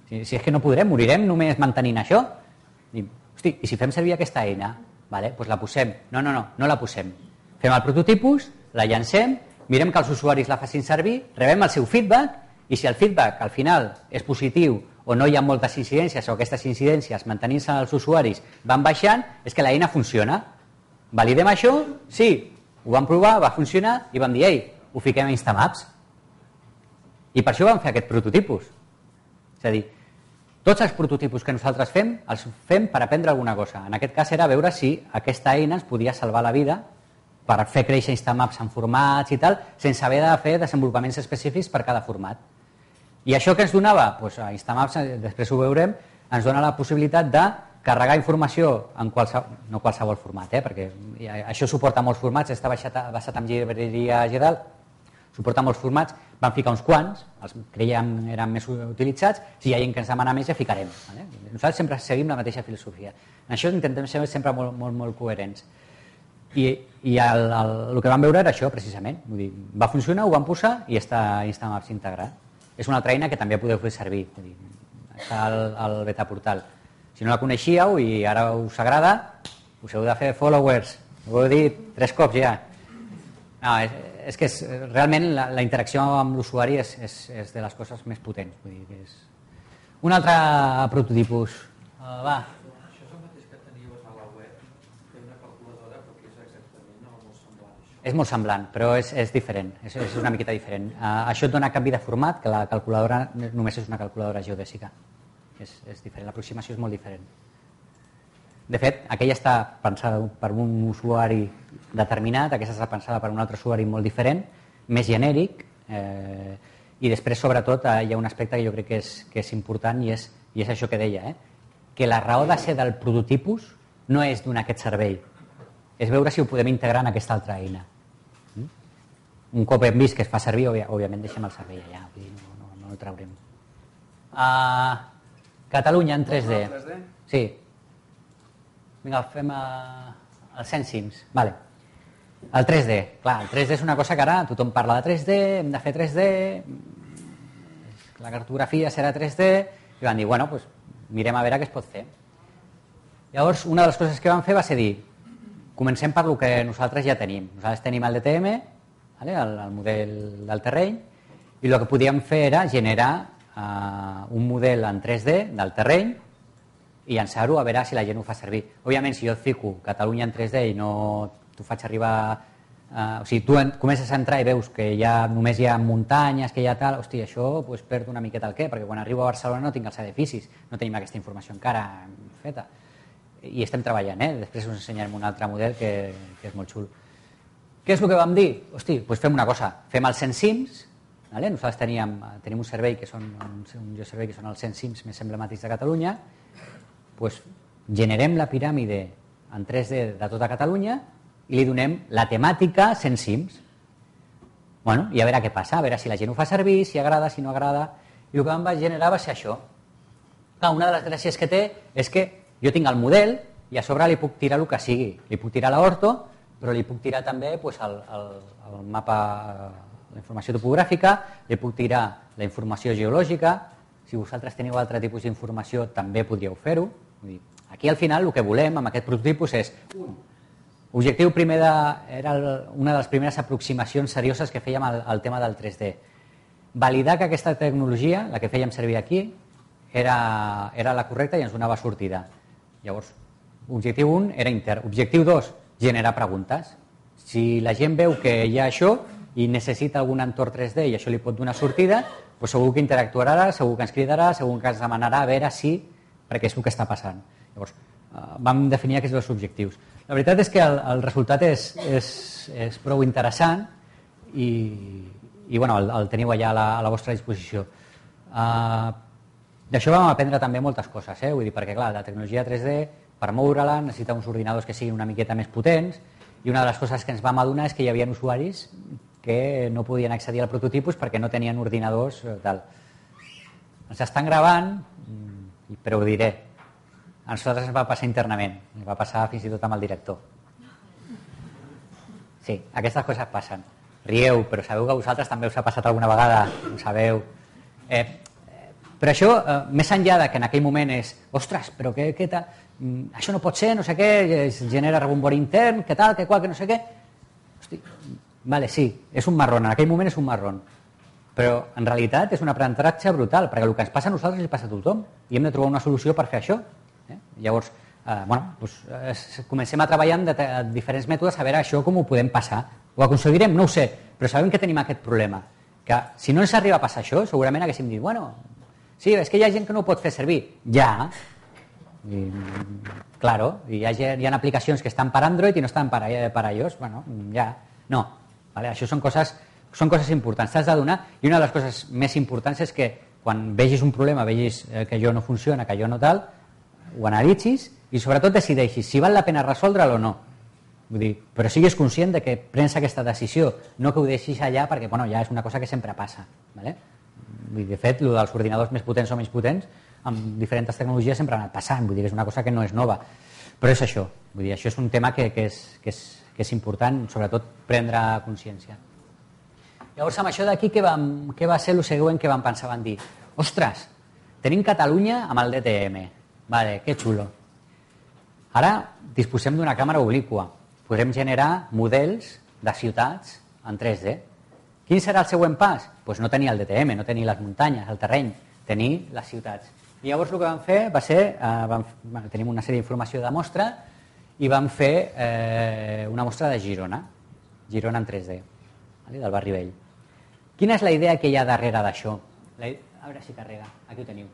S1: Si és que no podrem, morirem només mantenint això. Hosti, i si fem servir aquesta eina, vale, doncs la posem. No la posem. Fem el prototipus, la llancem, mirem que els usuaris la facin servir, rebem el seu feedback, i si el feedback al final és positiu o no hi ha moltes incidències o aquestes incidències mantenint-se els usuaris van baixant, és que l'eina funciona. Validem això? Sí. Ho vam provar, va funcionar i vam dir, ei, ho fiquem a Instamaps. I per això vam fer aquest prototipus. És a dir, tots els prototipus que nosaltres fem, els fem per aprendre alguna cosa. En aquest cas era veure si aquesta eina ens podia salvar la vida per fer créixer Instamaps en formats i tal, sense haver de fer desenvolupaments específics per cada format. I això que ens donava? Doncs a Instamaps, després ho veurem, ens dona la possibilitat de carregar informació en no qualsevol format, perquè això suporta molts formats, està basat en llibreria GDAL, suporta molts formats, vam ficar uns quants, els creiem eren més utilitzats, si hi ha gent que ens demana més ja ficarem. Nosaltres sempre seguim la mateixa filosofia. En això intentem ser sempre molt coherents. I el que vam veure era això, precisament. Vull dir, va funcionar, ho vam posar i està Instamaps integrat. És una altra eina que també podeu fer servir. Vull dir, està al beta portal. Si no la coneixíeu i ara us agrada, us heu de fer followers. Ho heu dit 3 cops ja. No, és que realment la interacció amb l'usuari és de les coses més potents. Vull dir que és un altre prototipus. Va.
S3: Això és el mateix que teníeu a la web, fer una calculadora, però que és exactament molt semblant.
S1: És molt semblant, però és diferent, és una miqueta diferent. Això et dona canvi de format, que la calculadora només és una calculadora geodèsica. És diferent, l'aproximació és molt diferent. De fet, aquella està pensada per un usuari determinat, aquesta està pensada per un altre usuari molt diferent, més genèric, i després, sobretot, hi ha un aspecte que jo crec que és important i és això que deia, que la raó de ser del prototipus no és donar aquest servei, és veure si ho podem integrar en aquesta altra eina. Un cop hem vist que es fa servir, òbviament deixem el servei allà, no el traurem. Catalunya en 3D. Sí. Vinga, fem el Sensims. Vale. El 3D. Clar, el 3D és una cosa que ara tothom parla de 3D, hem de fer 3D, la cartografia serà 3D, i van dir, bueno, doncs mirem a veure què es pot fer. Llavors, una de les coses que vam fer va ser dir, comencem per el que nosaltres ja tenim. Nosaltres tenim el DTM, el model del terreny, i el que podíem fer era generar un model en 3D del terreny i llançar-ho a veure si la gent ho fa servir. Òbviament, si jo et fico Catalunya en 3D i no t'ho faig arribar... o sigui, tu comences a entrar i veus que només hi ha muntanyes, que hi ha tal... Hosti, això perd una miqueta el què, perquè quan arribo a Barcelona no tinc els edificis, no tenim aquesta informació encara feta. I estem treballant, Després us ensenyarem un altre model que és molt xul. Què és el que vam dir? Hosti, doncs fem una cosa, fem els 100 cims, nosaltres tenim un servei que són un geoservei que són els 100 cims més emblemàtics de Catalunya, doncs generem la piràmide en 3D de tota Catalunya i li donem la temàtica 100 cims. I a veure què passa, a veure si la gent ho fa servir, si agrada, si no agrada. I el que vam generar va ser això. Una de les gràcies que té és que jo tinc el model i a sobre li puc tirar el que sigui. Li puc tirar l'orto, però li puc tirar també el mapa, la informació topogràfica, li puc tirar la informació geològica. Si vosaltres teniu altre tipus d'informació també podríeu fer-ho. Aquí al final el que volem amb aquest prototipus és objectiu primer era una de les primeres aproximacions serioses que fèiem al tema del 3D. Validar que aquesta tecnologia, la que fèiem servir aquí, era la correcta i ens donava sortida. Llavors, objectiu 1 era intern. Objectiu 2, generar preguntes. Si la gent veu que hi ha això i necessita algun entorn 3D i això li pot donar sortida, doncs segur que interactuarà, segur que ens cridarà, segur que ens demanarà a veure si, perquè és el que està passant. Llavors, vam definir aquests dos objectius. La veritat és que el resultat és prou interessant i el teniu allà a la vostra disposició. D'això vam aprendre també moltes coses, vull dir, perquè clar, la tecnologia 3D, per moure-la, necessita uns ordinadors que siguin una miqueta més potents, i una de les coses que ens vam adonar és que hi havia usuaris que no podien accedir al prototipus perquè no tenien ordinadors tal. Ens estan gravant, però ho diré. A nosaltres ens va passar internament, ens va passar fins i tot amb el director. Sí, aquestes coses passen. Rieu, però sabeu que a vosaltres també us ha passat alguna vegada, ho sabeu. Però això, més enllà de que en aquell moment és ostres, però què tal? Això no pot ser, no sé què, es genera rebombori intern, què tal, què qual, que no sé què. Hosti, vale, sí, és un marrón, en aquell moment és un marrón. Però en realitat és un aprenentatge brutal, perquè el que ens passa a nosaltres li passa a tothom i hem de trobar una solució per fer això. Llavors, comencem a treballar amb diferents mètodes a veure això com ho podem passar. Ho aconseguirem? No ho sé, però sabem que tenim aquest problema. Que si no ens arriba a passar això, segurament haguéssim dit, sí, és que hi ha gent que no ho pot fer servir. Ja, claro, hi ha aplicacions que estan per Android i no estan per iOS, ja, no. Això són coses importants, t'has d'adonar, i una de les coses més importants és que quan vegis un problema, vegis que allò no funciona, que allò no tal, ho analitzis i sobretot decideixis si val la pena resoldre'l o no. Vull dir, però siguis conscient de que prens aquesta decisió, no que ho deixis allà perquè ja és una cosa que sempre passa. De fet, el dels ordinadors més potents o menys potents, amb diferents tecnologies sempre ha anat passant, vull dir, és una cosa que no és nova. Però és això, vull dir, això és un tema que és important, sobretot prendre consciència. Llavors, amb això d'aquí, què va ser el següent que vam pensar? Vam dir, ostres, tenim Catalunya amb el DTM. Vale, que xulo. Ara disposem d'una càmera obliqua. Podrem generar models de ciutats en 3D. Quin serà el següent pas? Doncs no tenir el DTM, no tenir les muntanyes, el terreny, tenir les ciutats. I llavors el que vam fer va ser, tenim una sèrie d'informació de mostra i vam fer una mostra de Girona en 3D, del Barri Vell. Quina és la idea que hi ha darrere d'això? A veure si carrega, aquí ho teniu.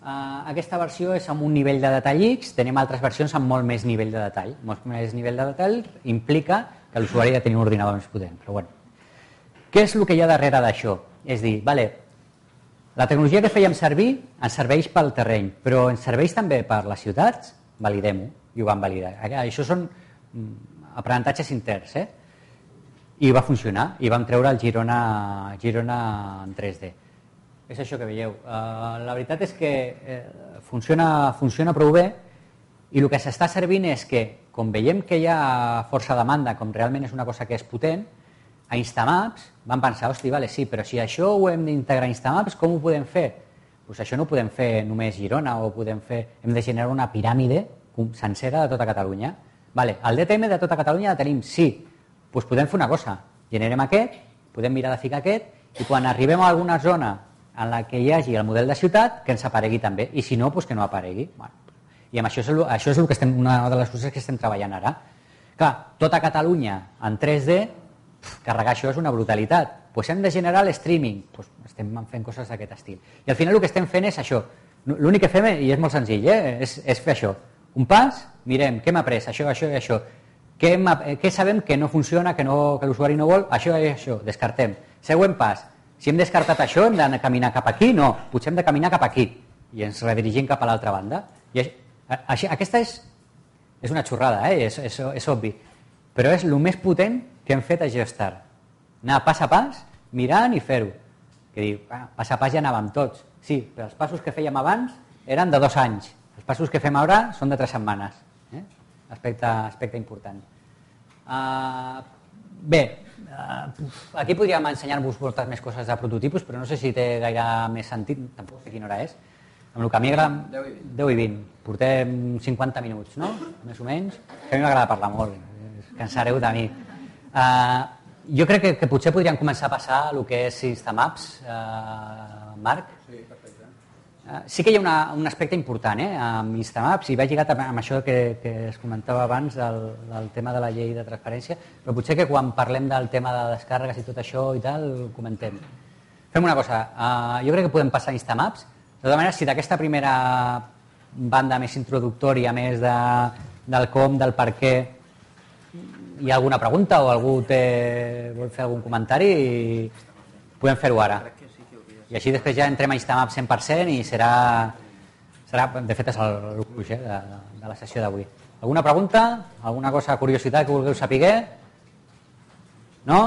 S1: Aquesta versió és amb un nivell de detall X, tenim altres versions amb molt més nivell de detall. Molt més nivell de detall implica que l'usuari ha de tenir un ordinador més potent. Però bueno, què és el que hi ha darrere d'això? És dir, la tecnologia que fèiem servir ens serveix pel terreny, però ens serveix també per les ciutats? Validem-ho, i ho vam validar. Això són aprenentatges interns, I va funcionar, i vam treure el Girona en 3D. És això que veieu. La veritat és que funciona prou bé i el que s'està servint és que, com veiem que hi ha força demanda, com realment és una cosa que és potent, a Instamaps vam pensar, sí, però si això ho hem d'integrar a Instamaps, com ho podem fer? Doncs això no ho podem fer només Girona, hem de generar una piràmide sencera de tota Catalunya. El DTM de tota Catalunya la tenim, sí. Doncs podem fer una cosa, Generem aquest, podem mirar de ficar aquest i quan arribem a alguna zona en la que hi hagi el model de ciutat, que ens aparegui també, i si no, doncs que no aparegui. Bueno, i amb això és el que una de les coses que estem treballant ara. Clar, tota Catalunya en 3D, carregar això és una brutalitat. Doncs hem de generar l'streaming, estem fent coses d'aquest estil. I al final el que estem fent és això. L'únic que fem, i és molt senzill, és fer això. Un pas, mirem, què hem après, això i això. Què sabem que no funciona, que l'usuari no vol, això i això, descartem. Següent pas, si hem descartat això, hem de caminar cap aquí? No, potser hem de caminar cap aquí i ens redirigim cap a l'altra banda. Aquesta és una xorrada, és obvi, però és el més potent que hem fet a GeoStart. Anar pas a pas, mirant i fer-ho. Que diu, pas a pas ja anàvem tots. Sí, però els passos que fèiem abans eren de 2 anys. Els passos que fem ara són de 3 setmanes. Aspecte important. Bé, aquí podríem ensenyar-vos moltes més coses de prototipus, però no sé si té gaire més sentit, tampoc sé quina hora és. Amb el que a mi agrada... 10 i 20. Portem 50 minuts, no? Més o menys. Que a mi m'agrada parlar molt, cansareu de mi. Jo crec que potser podríem començar a passar el que és Instamaps, Marc.
S2: Sí, perfecte.
S1: Sí que hi ha un aspecte important amb Instamaps i va lligat amb això que es comentava abans del tema de la llei de transparència, però potser que quan parlem del tema de descàrregues i tot això i tal, ho comentem. Fem una cosa, jo crec que podem passar a Instamaps. De tota manera, si d'aquesta primera banda més introductòria, més del com, del per què, hi ha alguna pregunta o algú vol fer algun comentari, podem fer-ho ara. I així després ja entrem a Instamaps 100% i serà de fet és el gruix de la sessió d'avui. Alguna pregunta? Alguna cosa, curiositat que vulgueu saber? No?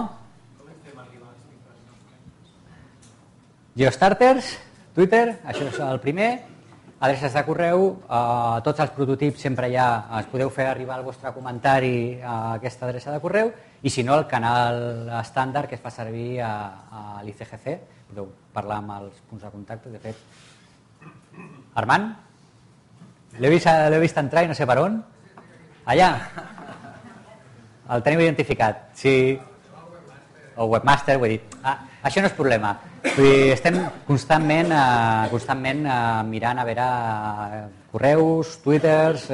S1: Geostarters, Twitter, això és el primer. Adreces de correu, tots els prototips sempre ja es podeu fer arribar el vostre comentari a aquesta adreça de correu i si no el canal estàndard que es fa servir a l'ICGC, podeu parlar amb els punts de contacte. De fet, Armand, l'he vist entrar i no sé per on. Allà, el teniu identificat. Sí. O webmaster, ho he dit. Això no és problema. Vull dir, estem constantment mirant a veure correus, twitters,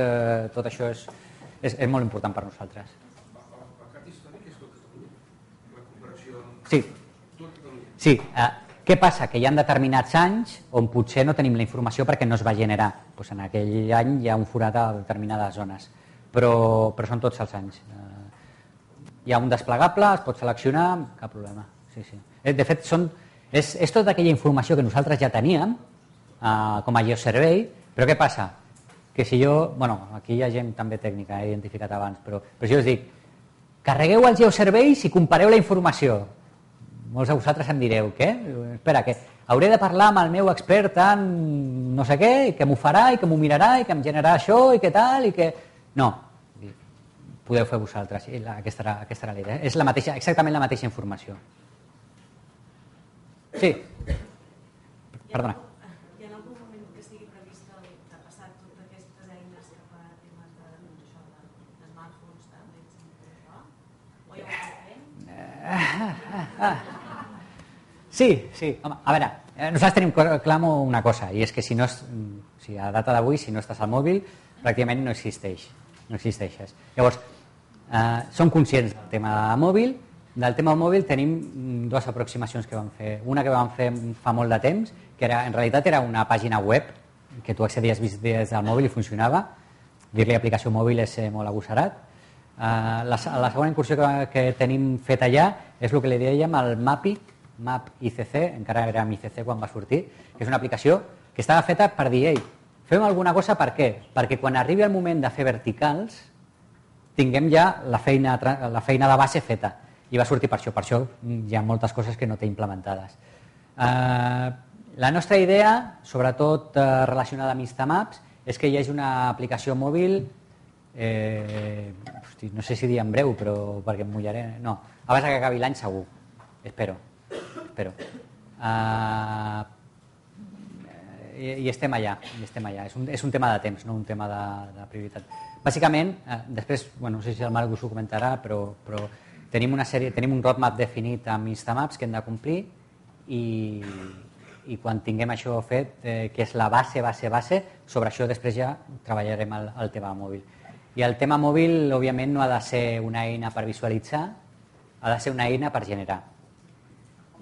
S1: tot això és molt important per nosaltres.
S4: El cap històric és tot Catalunya? La comparació...
S1: Sí. Què passa? Que hi ha determinats anys on potser no tenim la informació perquè no es va generar. Doncs en aquell any hi ha un forat a determinades zones, però són tots els anys. Hi ha un desplegable, es pot seleccionar, cap problema. Sí. De fet, és tota aquella informació que nosaltres ja teníem com a GeoSurvey, però què passa? Que si jo... aquí hi ha gent també tècnica, he identificat abans, però si jo us dic, carregueu el GeoSurvey si compareu la informació. Molts de vosaltres em direu, què? Espera, que hauré de parlar amb el meu expert en no sé què, i que m'ho farà, i que m'ho mirarà, i que em generarà això, i que tal, i que... No, podeu fer vosaltres. Aquesta era la idea. És exactament la mateixa informació. Sí. Perdona.
S5: Hi ha algun moment que estigui previst de passar totes aquestes eines cap a temes de smartphones, tablets, o ja ho fem?
S1: Sí. Home, a veure, nosaltres tenim clar una cosa, i és que si a data d'avui, si no estàs al mòbil, pràcticament no existeixes. Llavors, som conscients del tema mòbil. Del tema mòbil tenim dues aproximacions que vam fer. Una que vam fer fa molt de temps, que en realitat era una pàgina web que tu accedies des del mòbil i funcionava. Dir-li aplicació mòbil és molt agosserat. La segona incursió que tenim fet allà és el que li dèiem el Map ICC, encara era ICC quan va sortir, que és una aplicació que estava feta per dir, fem alguna cosa per què? Perquè quan arribi el moment de fer verticals tinguem ja la feina de base feta. I va sortir per això hi ha moltes coses que no té implementades. La nostra idea, sobretot relacionada amb Instamaps, és que hi hagi una aplicació mòbil, no sé si dir en breu, però perquè em mullaré, no, abans que acabi l'any segur, espero. I estem allà. És un tema de temps, no un tema de prioritat. Bàsicament, després, no sé si el Marc us ho comentarà, però tenim un roadmap definit amb Instamaps que hem de complir i quan tinguem això fet, que és la base, sobre això després ja treballarem el tema mòbil. I el tema mòbil, òbviament, no ha de ser una eina per visualitzar, ha de ser una eina per generar.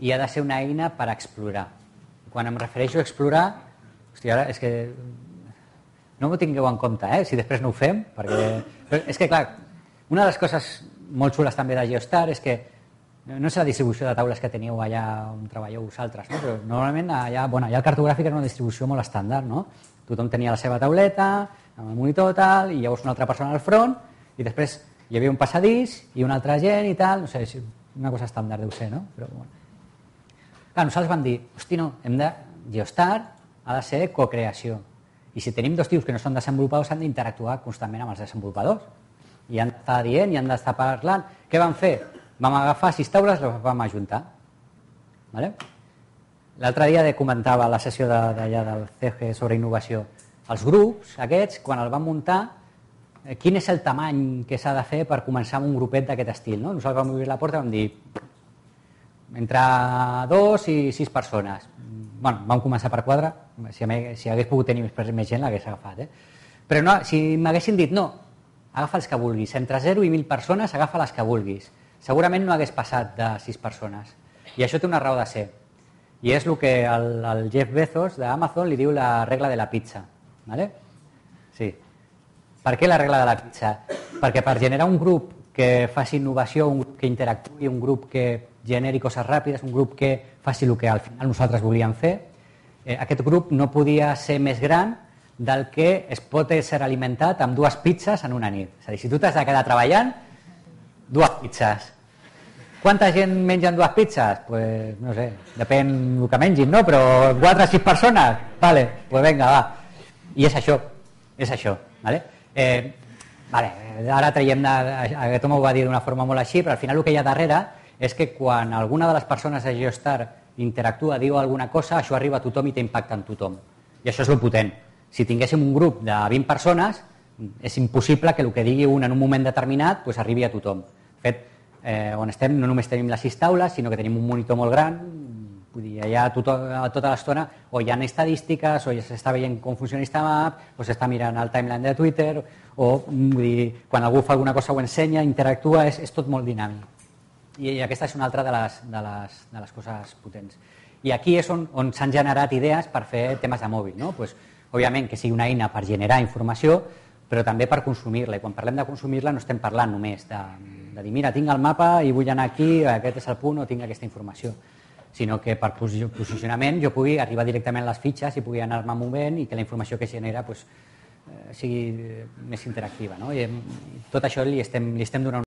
S1: I ha de ser una eina per explorar. Quan em refereixo a explorar, hòstia, ara és que no m'ho tingueu en compte, si després no ho fem, perquè és que, clar, una de les coses molt xules també de Geostar és que no és la distribució de taules que teniu allà on treballeu vosaltres, no? Però normalment allà el cartogràfic era una distribució molt estàndard, no? Tothom tenia la seva tauleta, amb el monitor tal, i llavors una altra persona al front, i després hi havia un passadís i una altra gent i tal, no sé, una cosa estàndard deu ser, no? Però bueno. Clar, nosaltres vam dir, hosti, no, Geostar ha de ser cocreació. I si tenim 2 tios que no són desenvolupadors, han d'interactuar constantment amb els desenvolupadors. I han d'estar dient, i han d'estar parlant. Què vam fer? Vam agafar 6 taules i les vam ajuntar. Vale? L'altre dia comentava a la sessió d'allà del CG sobre innovació. Els grups aquests, quan el vam muntar, quin és el tamany que s'ha de fer per començar amb un grupet d'aquest estil? No? Nosaltres vam obrir la porta i vam dir entre 2 i 6 persones. Bueno, vam començar per 4, si hagués pogut tenir més gent l'hagués agafat. Però no, si m'haguessin dit no, agafa els que vulguis, entre 0 i 1.000 persones agafa les que vulguis, segurament no hagués passat de 6 persones. I això té una raó de ser. I és el que el Jeff Bezos d'Amazon li diu la regla de la pizza. ¿Vale? Sí. Per què la regla de la pizza? Perquè per generar un grup que faci innovació, un grup que interactuï, un grup que generi coses ràpides, un grup que faci el que al final nosaltres volíem fer, aquest grup no podia ser més gran del que es pot ser alimentat amb 2 pizzas en una nit. És a dir, si tu t'has de quedar treballant, 2 pizzas. Quanta gent mengen 2 pizzas? Pues no sé, depèn del que mengin, no? Però 4 o 6 persones? Vale, pues venga, va. I és això, vale? Vale, ara traiem, aquest home ho va dir d'una forma molt així, però al final el que hi ha darrere és que quan alguna de les persones de Geostar interactua, diu alguna cosa, això arriba a tothom i té impacte en tothom. I això és el potent. Si tinguéssim un grup de 20 persones, és impossible que el que digui un en un moment determinat pues, arribi a tothom. De fet, on estem no només tenim les 6 taules, sinó que tenim un monitor molt gran, vull dir, allà tota l'estona o hi ha estadístiques, o ja s'està veient com funciona Instamap, o s'està mirant el timeline de Twitter, o vull dir, quan algú fa alguna cosa ho ensenya, interactua, és tot molt dinàmic. I aquesta és una altra de les coses potents. I aquí és on s'han generat idees per fer temes de mòbil, no? Pues, òbviament que sigui una eina per generar informació, però també per consumir-la. I quan parlem de consumir-la no estem parlant només de dir, mira, tinc el mapa i vull anar aquí, aquest és el punt, o tinc aquesta informació, sinó que per posicionament jo pugui arribar directament a les fitxes i pugui anar-me movent i que la informació que genera sigui més interactiva. No? I tot això li estem donant